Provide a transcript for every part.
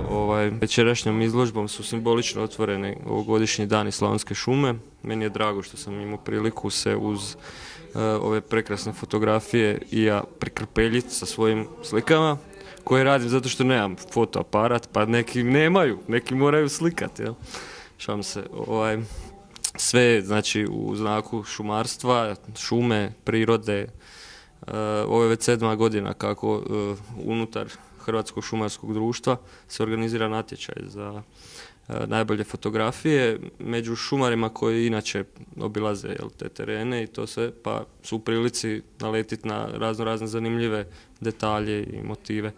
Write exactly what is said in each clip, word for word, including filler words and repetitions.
Ovaj, večerašnjom izložbom su simbolično otvoreni ovogodišnji dani Slavonske šume. Meni je drago što sam imao priliku se uz uh, ove prekrasne fotografije i ja prikrpeljiti sa svojim slikama koje radim zato što nemam fotoaparat, pa neki nemaju, neki moraju slikati. Jel? Šalim se. Ovaj, sve znači u znaku šumarstva, šume, prirode. Uh, ovo je već sedma godina kako uh, unutar Hrvatskog šumarskog društva se organizira natječaj za uh, najbolje fotografije među šumarima koji inače obilaze jel, te terene i to sve, pa su u prilici naletiti na razno razne zanimljive detalje i motive.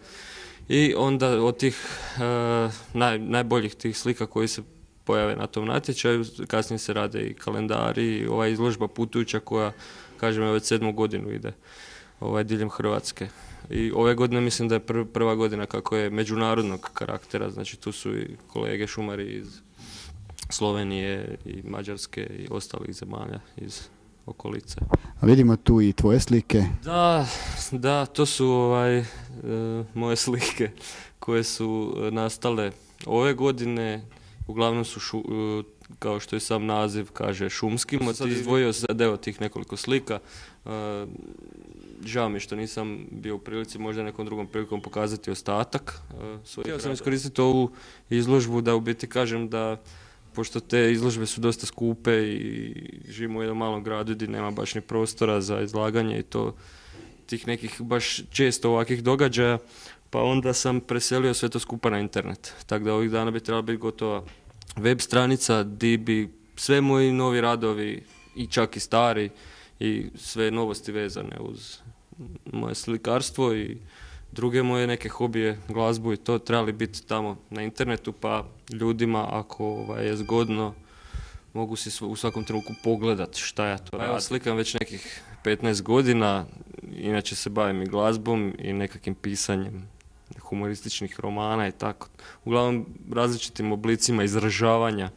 I onda od tih uh, naj, najboljih tih slika koji se pojave na tom natječaju, kasnije se rade i kalendari i ova izložba putujuća koja, kažem, već sedmu godinu ide ovaj, diljem Hrvatske. I ove godine mislim da je pr prva godina kako je međunarodnog karaktera, znači tu su i kolege šumari iz Slovenije i Mađarske i ostalih zemalja iz okolice. A vidimo tu i tvoje slike. Da, da, to su ovaj, e, moje slike koje su nastale ove godine, uglavnom su šu, e, kao što je sam naziv kaže šumski motiv. Sad izdvojio sad evo tih nekoliko slika. E, Žao mi što nisam bio u prilici možda nekom drugom prilikom pokazati ostatak. Htio sam iskoristiti ovu izložbu da u biti kažem da, pošto te izložbe su dosta skupe i živimo u jednom malom gradu gdje nema baš ni prostora za izlaganje i to tih nekih baš često ovakvih događaja, pa onda sam preselio sve to skupa na internet. Tako da ovih dana bi trebala biti gotova web stranica gdje bi sve moji novi radovi i čak i stari i sve novosti vezane uz moje slikarstvo i druge moje neke hobije, glazbu i to trebali biti tamo na internetu, pa ljudima ako ovaj, je zgodno mogu si u svakom trenutku pogledati šta ja to radim. Ja slikam već nekih petnaest godina, inače se bavim i glazbom i nekakvim pisanjem humorističnih romana i tako. Uglavnom različitim oblicima izražavanja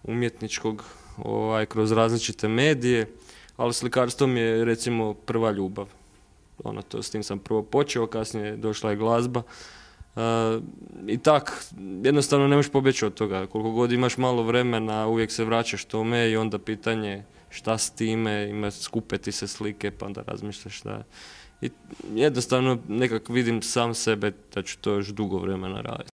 umjetničkog ovaj, kroz različite medije, ali slikarstvo mi je recimo prva ljubav. Ono, to, s tim sam prvo počeo, kasnije došla je glazba. Uh, I tak, jednostavno ne možeš pobjeći od toga. Koliko god imaš malo vremena, uvijek se vraćaš tome i onda pitanje šta s time, ima skupe ti se slike, pa onda razmišljaš šta. I jednostavno nekak vidim sam sebe da ću to još dugo vremena raditi.